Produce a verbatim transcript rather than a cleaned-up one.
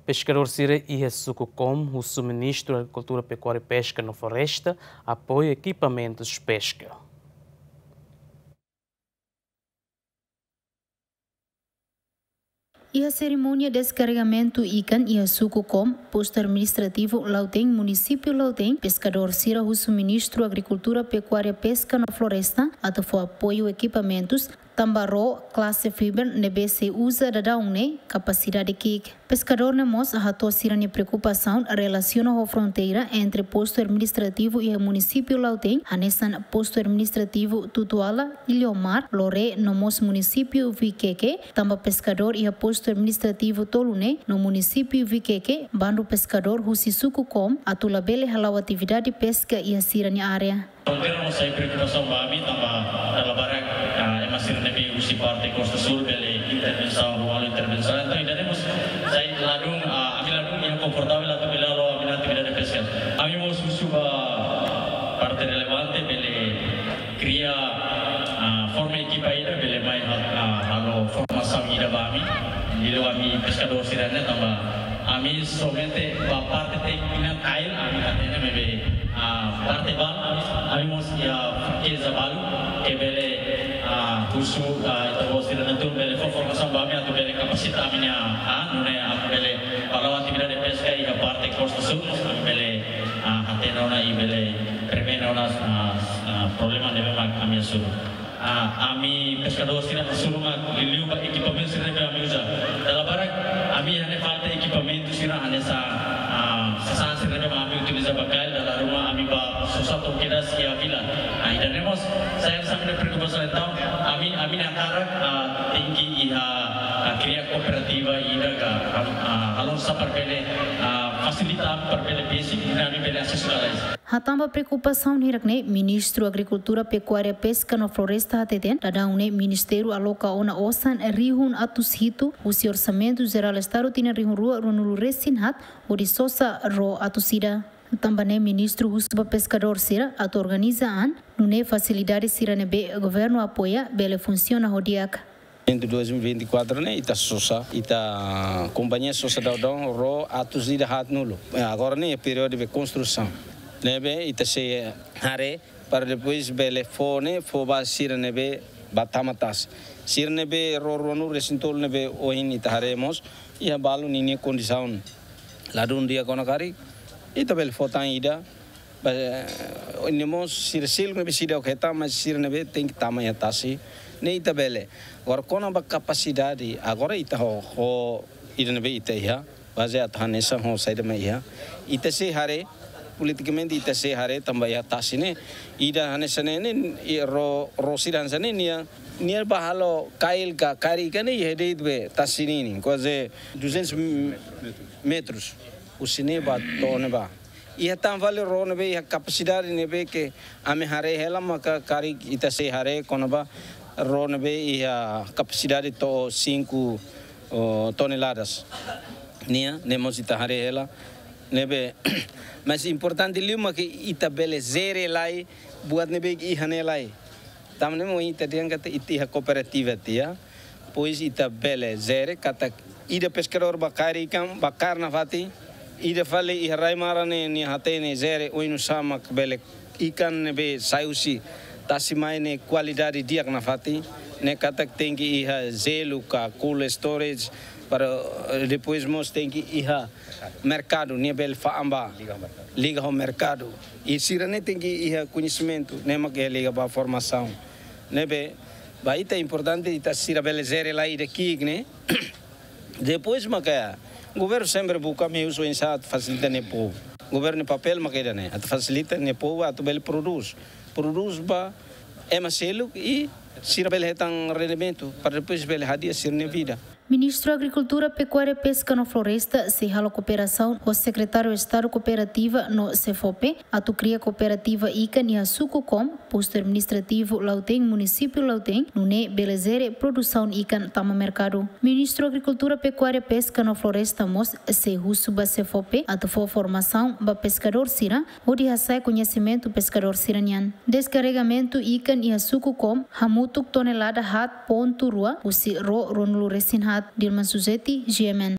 Peskadór sira iha suku Kom husu Ministru Agrikultura, Pekuária, Peska no Floresta apoiu ekipamentus peska. Iha serimónia deskarregamentu ikan iha suku Kom, postu administrativu Lautém, munisípiu Lautém, peskadór sira husu Ministru Agrikultura, Pekuária, Peska no Floresta atu fó apoiu ekipamentus tanba ró klase fiber ne'ebé sei uza daudaun ne'e kapasidade ki'ik. Peskadór ne'e mós hato'o sira-nia preokupasaun relasiona ho fronteira entre postu administrativu iha munisípiu Lautém, hanesan postu administrativu Tutuala, Iliomar, Loré no mós munisípiu Viqueque, tanba peskadór iha postu administrativu tolu ne'e no munisípiu Viqueque, bandu peskadór husi suku Kom atu labele hala'o atividade peska iha sira-nia área. Fronteira mós sai preokupasaun ba ami, tanba dala barak, ah, ema sira ne'ebé husi parte Kosta Súl bele intervensaun, rua halo intervensaun. Entaun, ida-ne'e mós sai ladún, ah, ami ladún iha konfortavel atu bele halo ami-nia atividade peska. Ami mós husu ba parte relevante bele kria, ah, forma ekipa ida bele mai ha-, ah, halo formasaun ida ba ami. Liuliu ami peskadór sira-ne'e tanba ami somente ba parte téknika kail ami hatene maibé, ah, parte balu ami, ami mós iha fraqueza balu ke bele, ah, husu, ah, ita-boot sira-ne'e atu bele fó formasaun ba ami atu bele kapasita ami-nia, ah, nune'e ami bele ba la'o atividade peska iha parte Kosta Súl, ami bele, ah, hatene ona i bele prevene ona, ah, ah, problema ne'ebé mak ami hasoru. Ah, ami peskadór sira hasoru mak liuliu ba ekipamentu sira ne'ebé ami uza. Dala barak ami iha ne'e falta ekipamentu sira hanesan, ah, sasán sira ne'ebé mak ami utiliza ba kail, dala ruma ami ba sosa to'o kedas iha vila. Ah, ida-ne'e mós sai hanesan ami-nia preokupasaun. Entaun ami, ami-nia hakarak, ah, tenke iha, ah, kria kooperativa ida ka, ah, ah, halo oinsá para bele, ah, fasilita para bele besik, nune'e ami bele asesu lalais. Hatán ba preokupasaun hirak-ne'e, Ministru Agrikultura, Pekuária, Peska no Floresta hateten, daudaun ne'e ministériu aloka ona osan rihun atus hitu husi Orsamentu Jerál Estadu tinan rihun rua ruanulu resin haat hodi sosa ró atus ida. Tanba ne'e ministru husu ba peskadór sira atu organiza an, nune'e fasilidade sira ne'ebé governu apoia bele funsiona ho di'ak. Entre dois mil e vinte e quatro ne'e ita sosa, ita kompañia sosa daudaun ró atus ida haatnulu. Eh, agora ne'e períodu de konstrusaun. Ne'ebé ita sei haree para depois bele fó ne'e, fó ba sira ne'ebé bá tama tasi. Sira ne'ebé ró ruanulu resin tolu ne'ebé ohin ita haree mós, iha balu ninia kondisaun ladún di'ak ona karik, ita bele fó tan ida, ba, ne'e mós sira seluk ne'ebé seidauk hetan, mas sira ne'ebé tenke tama iha tasi, ne'e ita bele. Agora kona-ba kapasidade, agora ita ho, ho ida ne'ebé ita iha, bazeia atu hanesan ho saida mak iha. Ita sei haree, politikamente ita sei haree tanba iha tasi ne'e, ida hanesan ne'e, ne'e, i ró, ró sira hanesan ne'e, nia, nia bá halo kail ka karik ka ne'e, iha de'it be tasi ninin, kuaze duzentos metros. Husi ne'e bá to'o ne'ebá. Iha tan fali ró ne'ebé iha kapasidade ne'ebé ke ami haree hela maka karik ita sei haree kona-ba ró ne'ebé iha kapasidade to'o cinco, oh, toneladas. Nia, ne'e mós ita haree hela. Ne'ebé, mas importante liu maka ita bele jere lai buat ne'ebé iha ne'e lai. Tanba ne'e mak ita dehan katak ita iha kooperativa tiha. Depois ita bele jere katak ida peskadór bá kaer ikan, bá kaer nafatin. Ida fali iha rai-maran ne'e nia hatene jere oinsá mak bele ikan ne'ebé sai husi tasi mai ne'e kualidade di'ak nafatin. Ne'e katak tenke iha jelu ka cold storage para, eh, depois mós tenke iha merkadu, nia bele fa'an ba liga ho merkadu. I sira-ne'e tenke iha koñesimentu, ne'e mak iha liga ba formasaun. Ne'ebé, ba ita importante ita sira bele jere lai ida ki'ik ne'e. Depois maka governu sempre buka meius oinsá atu fasilita nia povu. Governu nia papél maka ida-ne'e, atu fasilita nia povu atu bele prodús. Prodús ba ema seluk i sira bele hetan rendimentu, para depois bele hadi'a sira-nia vida. Ministru Agrikultura, Pekuária, Peska no Floresta sei halo kooperasaun ho Sekretáriu Estadu Kooperativa no SEFOPE atu kria kooperativa ikan iha suku Kom, postu administrativu Lautém, munisípiu Lautém, nune'e bele jere produsaun ikan tama merkadu. Ministru Agrikultura, Pekuária, Peska no Floresta mós sei husu ba SEFOPE atu fó formasaun ba peskadór sira, hodi hasa'e koñesimentu peskadór sira-nian. Deskarregamentu ikan iha suku Kom hamutuk tonelada haat pontu rua husi ró ruanulu resin haat. Dilma Suzeti, G M N.